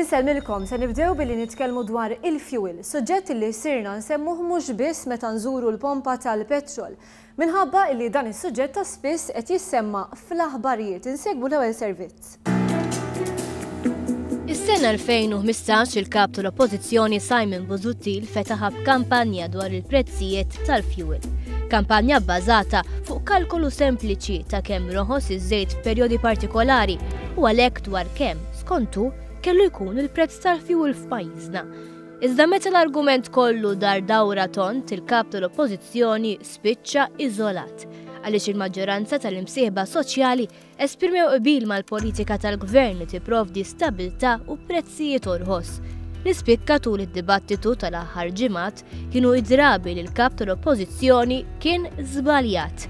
Insellmilkom, se nibdew billi nitkellmu dwar il-fuel, suġġett li sirna nsemmuh mhux biss meta nżuru l-pompa tal-petrol. Minħabba illi dan is-suġġett ta' spiss qed jissemma fl-aħbarijiet. Insegwu l-ewwel servizz. Is-sena 2015 il-Kap tal-Oppożizzjoni Simon Busuttil fetaħa b'kampanja dwar il-prezzijiet tal-fuel. Kampanja bbażata fuq kalkolu sempliċi ta' kemm roħos iż-żejt f'perjodi partikolari u għalhekk dwar kemm, skont hu, kellu jkun il-prezz tal-fuel f'pajjiżna. Iżda meta l-argument kollu dar dawra tond, il-Kap tal-Oppożizzjoni spiċċa iżolat għaliex il-maġġoranza tal-imsieħba soċjali esprimew qbil mal-politika tal-Gvern li tipprovdi stabbiltà u prezzijiet orħos. Li spikka tul id-dibattitu tal-aħħar ġimgħat kienu id-drabi li l-Kap tal-Oppożizzjoni kien żbaljat.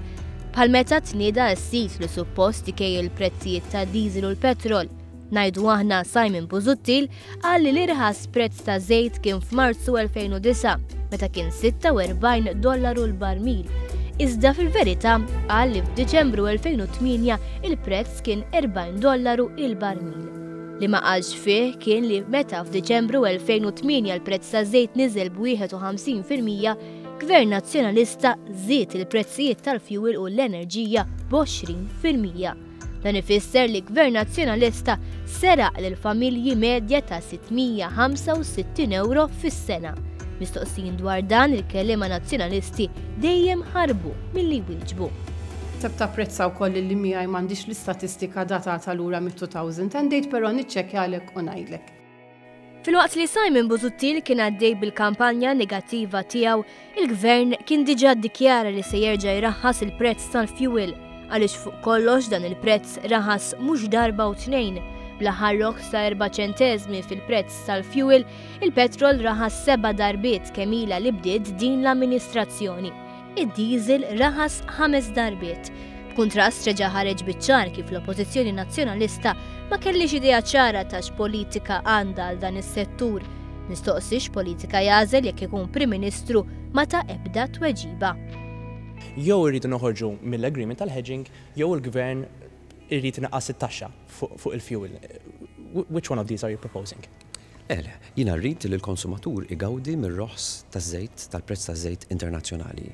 Bħal meta tnieda s-sit li suppost ikejjel il-prezzijiet tad-diesel u l-petrol. Ngħidu aħna Simon Busuttil qal li l-irħas prezz ta' żejt kien f'Marzu 2009 meta kien 46 dollaru l-barmil. Iżda fil-verità qal li f'Diċembru 2008 il-prezz kien 40 dollaru il-barmil. Li ma qalx fih kien li meta f'Diċembru 2008 l-prezz ta' żejt niżel b'51%, Gvern Nazzjonalista żied il-prezzijiet tal-fjuwil u l-enerġija b'20%. Dan ifisser li Gvern Nazzjonalista seraq lil familji medja ta' 665 ewro fis-sena. Mistoqsijin dwar dan il-kelliema Nazzjonalisti dejjem ħarbu milli jwieġbu. Naħseb tapprezza wkoll li miegħi m'għandix l-istatistika datata lura mit-2008 però niċċekkjalek u ngħidlek. Filwaqt li Simon Busuttil kien għaddej bil-kampanja negattiva tiegħu, il-Gvern kien diġà ddikjara li se jerġa' jraħħas il-prezz tal-fjuwil, għaliex fuq kollox dan il-prezz raħas mhux darba u tnejn. Bl-aħħar roħs ta' erba' ċenteżmi fil-prezz tal-fjuwil, il-petrol raħas seba' darbiet kemm ilha li bdiet din l-amministrazzjoni. Id-diesel raħas ħames darbiet. B'kuntrast reġa' ħareġ biċ-ċar kif l-Oppożizzjoni Nazzjonalista ma kellhiex idea ċara ta' x'politika għandha għal dan is-settur. Mistoqsi x'politika jagħżel jekk ikun Prim Ministru ma ta ebda tweġiba. Jew irridu noħorġu mill-agreement tal-hedging jew il-Gvern irid inaqqas it-taxxa fuq il-fuel. Which one of these are you proposing? Le, le. Jiena rrid li l-konsumatur igawdi mir-roħs taż-żejt, tal-prezz taż-żejt internazzjonali.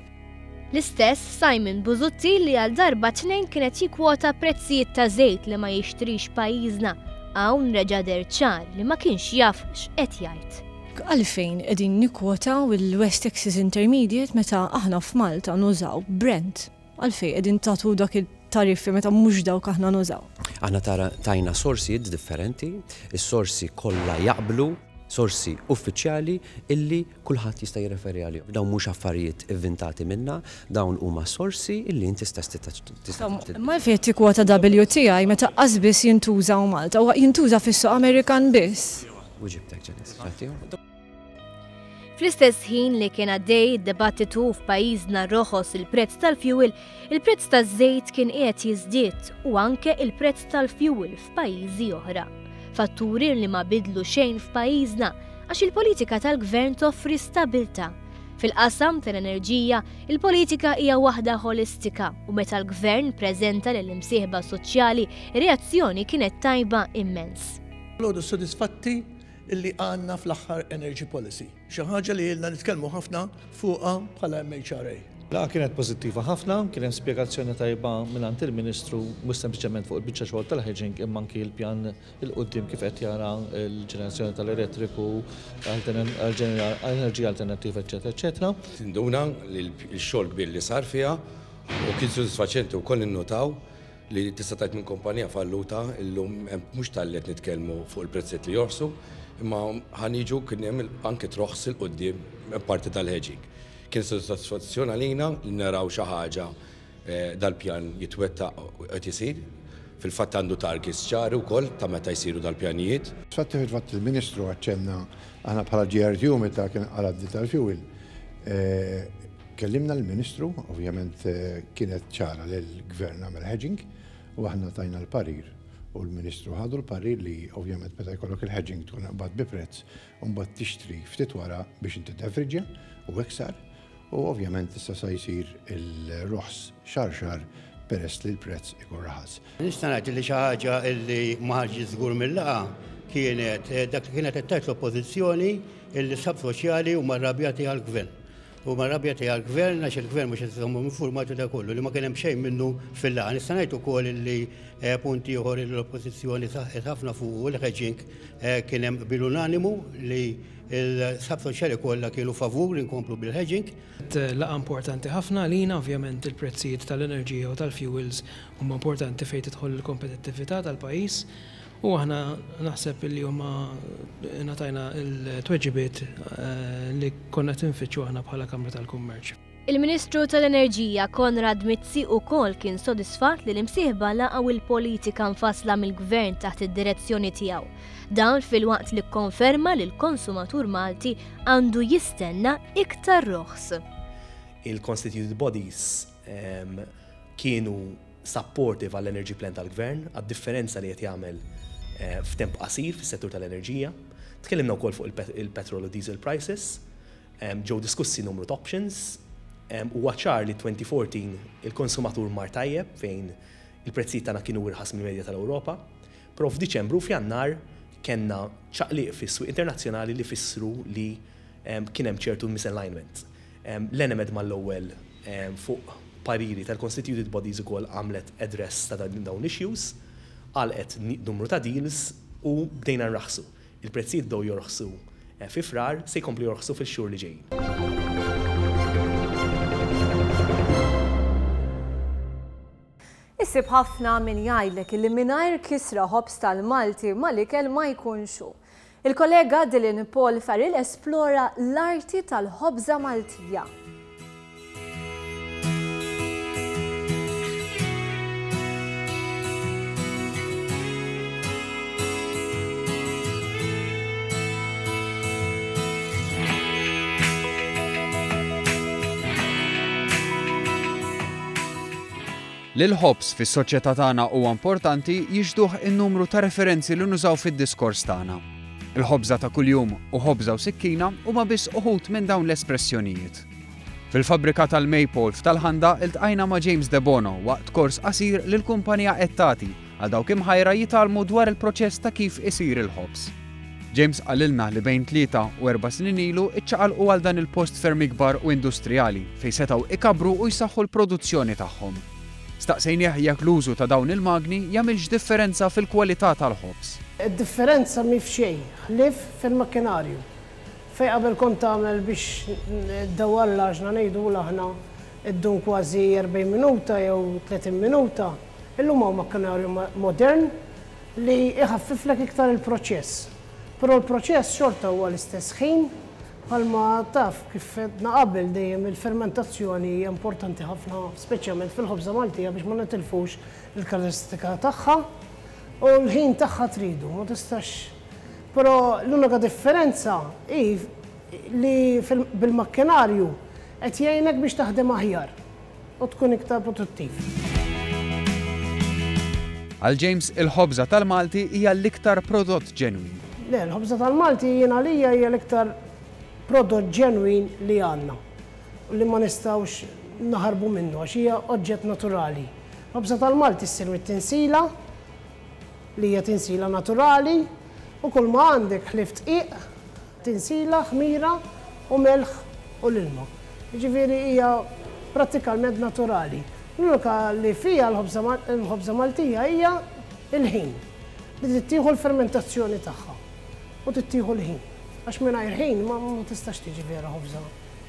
L-istess Simon Busuttil li għal darba tnejn kien qed jikkwota prezzijiet ta' żejt li ma jixtrix pajjiżna, hawn reġa' deher ċar li ma kienx jaf x'qed jgħid. Għalfejn qegħdin nikkwotaw il-West Texas Intermediate meta aħna f'Malta nużaw Brent? Għalfejn qegħdin tagħtu dak it-tariffi meta mhux dawk aħna nużaw? Aħna tajna sorsijiet differenti, is-sorsi kollha jaqblu, sorsi uffiċjali illi kulħadd jista' jirreferi għalihom. Dawn mhux affarijiet ivvintati minna, dawn huma sorsi illi inti stess tista'. Imma għalfejn qed tikkwota WTI meta qas biss jintuża hawn Malta? Huwa jintuża fis-suq Amerikan biss. Wiġibtek Janice, ċerti? Fl-istess ħin li kien għaddej id-dibattitu f'pajjiżna roħos il-prezz tal-fjuwil, il-prezz taż-żejt kien qiegħed jiżdied u anke il-prezz tal-fjuwil f'pajjiżi oħra. Fatturi li ma bidlu xejn f'pajjiżna għax il-politika tal-gvern toffri stabilta. Fil-qasam tal-enerġija, il-politika hija waħda ħolistika u meta l-gvern preżenta lill-imsieħba soċjali, ir-reazzjoni kienet tajba immens. Dalgħodu sodisfatti illi għandna fl-aħħar energy policy, xi ħaġa li ilna nitkellmu ħafna fuqha bħala MHRA. Laqgħa kienet pożittiva ħafna, kien hemm spjegazzjoni tajba mingħand il-Ministru mhux sempliċement fuq il-biċċa xogħol tal-hedging imma anki l-pjan 'il quddiem kif qed jara l-ġenerazzjoni tal-elettriku, enerġija alternattiva eċċetera eċċetera. Tinduna li l-xogħol kbir li sar fiha u kien sodisfaċenti wkoll ninnutaw li tista' tgħid minn kumpanija falluta illum hemm mhux talli qed nitkellmu fuq il-prezzijiet li jorħsu, imma ħa niġu kien hemm anke troħs 'il quddiem parti tal-hedging. Kien sodisfazzjon għalina li naraw xi ħaġa dal-pjan jitwettaq u qed isir. Fil-fatt għandu targets ċari wkoll ta' meta jsiru dal-pjanijiet. Fatti fil-fatt il-Ministru aċċenna aħna bħala GRTU meta kien qala d tal-fuel Kellimna l-Ministru, ovvjament kienet ċara li l-Gvern għamel hedging u aħna tajna l-parir u l-Ministru ħadu l-parir li ovvjament meta jkollok il-hedging tkun qbad bi prezz u mbagħad tixtri ftit wara biex inti tevriġja u hekk sar u ovvjament issa sa jsir il-roħs xahar xahar peress li l-prezz ikun raħas. Nista' ngħid li xi ħaġa li ma ħarġitx żgur mil-laqgħa. kienet dak li kienet qed tgħid l-Oppożizzjoni illi s-sħab soċjali huma rrabjati għall-Gvern. Huma rrabjati għall-Gvern għax il-Gvern mhux qed iżommhom infurmati u dak kollu li ma kien hemm xejn minnu fil-laqgħa. Nista' ngħid ukoll illi punt ieħor illi l-Oppożizzjoni saħqet ħafna fuqu il-hedging kien hemm qbil unanimu li l-sħab soċjali kollha kienu favur li nkomplu bil-hedging. Laqgħa importanti ħafna għalina, ovvjament il-prezzijiet tal-enerġija u tal-fuels huma importanti fejn tidħol il-kompetittività tal-pajjiż u aħna naħseb li huma ngħatajna l-tweġibiet li konna qed infittxu aħna bħala Kamra tal-Kummerċ. Il-Ministru tal-Enerġija Konrad Mizzi ukoll kien sodisfatt li l-imsieħba laqgħu l-politika mfassla mill-Gvern taħt id-direzzjoni tiegħu. Dan filwaqt li kkonferma li l-konsumatur Malti għandu jistenna iktar roħs. Il-constituted bodies kienu supportive għall-energy plan tal-Gvern, għad-differenza li qed jagħmel f'temp qasir fis-settur tal-enerġija. Tkellimna wkoll fuq il-petrol u diesel prices. Ġew diskussi numru ta' options. Huwa ċar li 2014 il-konsumatur mar tajjeb fejn il-prezzijiet tagħna kienu irħas mill-medja tal-Ewropa. Però f'Diċembru u f'Jannar kellna ċaqliq fis-swieq internazzjonali li fissru li kien hemm ċertu misalignment. L-Enemed mal-ewwel fuq pariri tal-constituted bodies ukoll għamlet address ta' dawn l-issues, għalqet numru ta' deals u bdejna nraħħsu. Il-prezzijiet bdew jorħsu fi Frar, se jkomplu jorħsu fil-xhur li ġejjin. Issib ħafna min jgħidlek illi mingħajr kisra ħobż tal-Malti mal-ikel ma jkunx hu. Il-kollega Dylan Paul Farrell esplora l-arti tal-ħobża Maltija. Li l-ħobż fis-soċjetà tagħna huwa importanti jixhduh in-numru ta' referenzi li nużaw fid-diskors tagħna. Il-ħobża ta' kuljum u ħobża u sikkina huma biss uħud minn dawn l-espressjonijiet. Fil-fabbrika tal-Maypole f'Tal-Ħanda iltqajna ma' James Debono waqt kors qasir li l-kumpanija qed tagħti għal dawk imħajra jitgħallmu dwar il-proċess ta' kif isir il-ħobż. James qalilna li bejn tlieta u erba' snin ilu ċċaqalqu għal dan il-post ferm ikbar u industrijali fejn setgħu ikabbru u jsaħħu l-produzzjoni tagħhom. Staqsejnieh jekk l-użu ta' dawn il-magni jagħmilx differenza fil-kwalità tal-ħobż. Id-differenza mhi f'xejn ħlief fil-makkinarju. Fejn qabel kont tagħmel biex ddawwar l-għaġna ngħidulu aħna ddum kważi 40 minuta jew 30 minuta, illum hawn makkinarju modern li jħaffiflek iktar il-proċess. Però l-proċess xorta huwa l-istess ħin, bħalma taf kif għedna qabel dejjem il-fermentazzjoni hija importanti ħafna speċjalment fil-ħobża Maltija biex ma nitilfux il-karatteristika tagħha u l-ħin tagħha tridu, ma tistax. Però l-unika differenza hi li bil-makkinarju qed jgħinek biex taħdem aħjar. u tkun iktar produttiv. Għal James, il-ħobża tal-Malti hija l-iktar prodott ġenwin. Le, l-ħobża tal-Malti jien għalija hija l-iktar prodott ġenwin li għandna u li ma nistgħux naħarbu minnu għax hija oġġett naturali. L-ħobża tal-Malti ssir mit-tinsila, li hija tinsila naturali, u kull ma għandek ħlief dqiq, Tinsila, ħmira u melħ u l-ilma. Jiġifieri hija prattikalment naturali. L-unika li fiha l-ħobża Maltija hija l-ħin. Li trid tieħu l-fermentazzjoni tagħha. U trid tieħu l-ħin. Għax mingħajr ħin ma tistax tiġi vera ħobża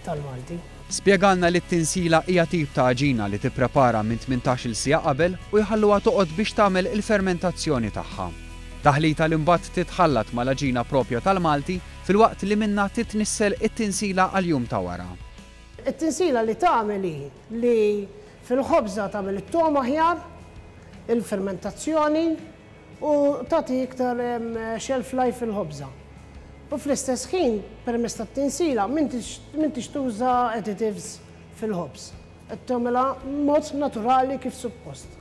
tal-Malti. Spjegalna li t-tinsila hija tip ta' għaġina li tipprepara minn 18-il siegħa qabel u jħalluha toqgħod biex tagħmel il-fermentazzjoni tagħha. Taħlita li mbagħad titħallat mal-għaġina proprja tal-Malti filwaqt li minnha titnissel it-tinsila għall-jum ta' wara. It-tinsila li tagħmel hi li fil-ħobża tagħmel it-togħma aħjar, il-fermentazzjoni u tagħti iktar shelf life fil-ħobża. U fl-istess ħin permezz tat-tinsila m'intix tuża additives fil-ħobż. Qed tagħmilha b'mod naturali kif suppost.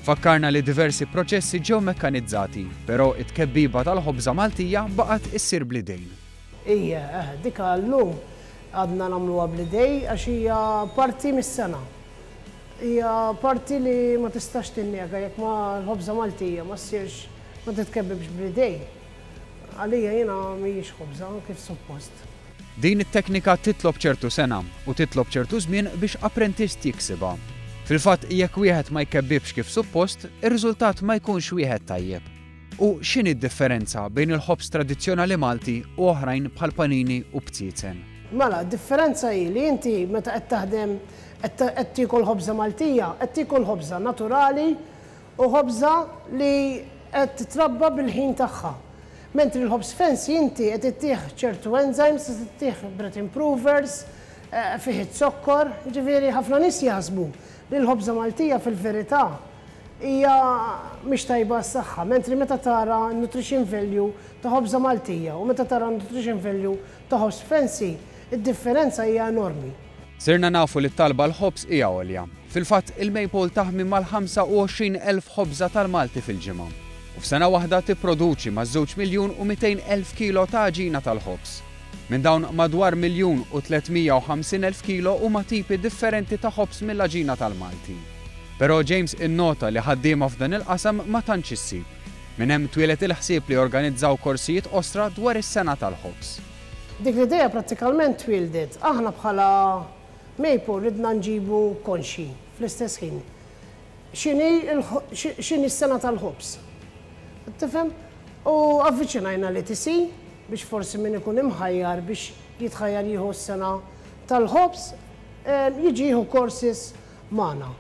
Fakkarna li diversi proċessi ġew mekkanizzati, però it-tkebbiba tal-ħobża Maltija baqgħet issir bl-idejn. Ija, eh, dika llum għadna nagħmluha bl-idej għax hija parti mis-sengħa. Hija parti li ma tistax tinnega jekk ma l-ħobża Maltija ma ssirx ma titkebbibx bl-idej. Għalija jiena mhijiex ħobża kif suppost. Din it-teknika titlob ċertu sengħa u titlob ċertu żmien biex apprentist jiksibha. Fil-fatt jekk wieħed ma jkebbibx kif suppost, ir-riżultat ma jkunx wieħed tajjeb. U x'inhi d-differenza bejn il-ħobż tradizzjonali Malti u oħrajn bħal panini u bziezen? Mela, d-differenza hi li inti meta qed taħdem qed tiekol ħobża Maltija, qed tiekol ħobża naturali u ħobża li qed titrabba bil-ħin tagħha. Mentri l-ħobż fancy inti qed ittih ċertu enzymes, qed ittih bread improvers, fih iz-zokkor, jiġifieri ħafna nies jaħsbu li l-ħobża Maltija fil-verità hija mhix tajba għas-saħħa, mentri meta tara n-nutrition value ta' ħobża Maltija u meta tara n-nutrition value ta' ħobż fancy, id-differenza hija enormi. Sirna nafu li t-talba għall-ħobż hija għolja. Fil-fatt, il-Maypole taħmi mal-25,000 ħobża tal-Malti fil-ġimgħa. U f'sena waħda tipproduċi maż-żewġ miljun u 200,000 kilo ta' għaġina tal-ħobż. Minn dawn madwar 1,350,000 kilo huma tipi differenti ta' ħobż mill-għaġina tal-Malti. Però James innota li ħaddiema f'dan il-qasam ma tantx issib. Minn hemm twieled il-ħsieb li jorganizzaw korsijiet qosra dwar is-sengħa tal-ħobż. Dik l-idea prattikalment twieldet. Aħna bħala Maypole ridna nġibu konxji fl-istess ħin x'inhi x'inhi s-sengħa tal-ħobż. Tifhem? U avviċinajna l-ETC biex forsi min ikun imħajjar biex jitħajjar jieħu s-sengħa tal-ħobż jiġi jieħu courses magħna.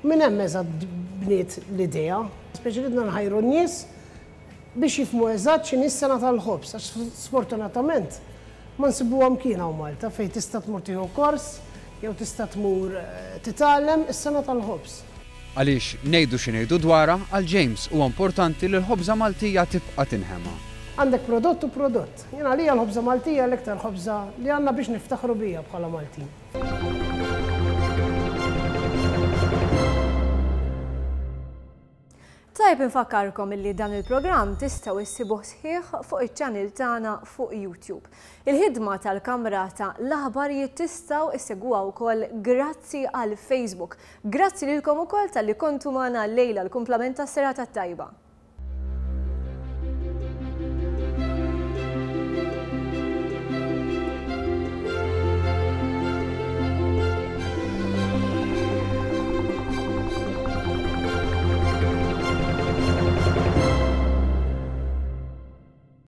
Minn hemm eżatt bniet l-idea. Speċi ridna nħajru n-nies biex jifhmu eżatt x'inhi s-sengħa tal-ħobż għax sfortunatament ma nsibuha mkien hawn Malta fejn tista' tmur tieħu kors jew tista' tmur titgħallem is-sengħa tal-ħobż. Għaliex, ngħidu xi ngħidu dwarha, għal James huwa importanti li l-ħobża Maltija tibqa' tinħema. Għandek prodott u prodott. Jien għalija l-ħobża Maltija l-iktar ħobża li għandna biex niftaħru biha bħala Maltin. Tajjeb infakkarkom illi dan il-programm tistgħu issibuh sħiħ fuq iċ-channel tagħna fuq YouTube. Il-ħidma tal-Kamra ta' l-Aħbarijiet tistgħu issegwuha wkoll grazzi għal Facebook. Grazzi lilkom ukoll talli kontu magħna llejla l-kumplament tas-serata t-tajba.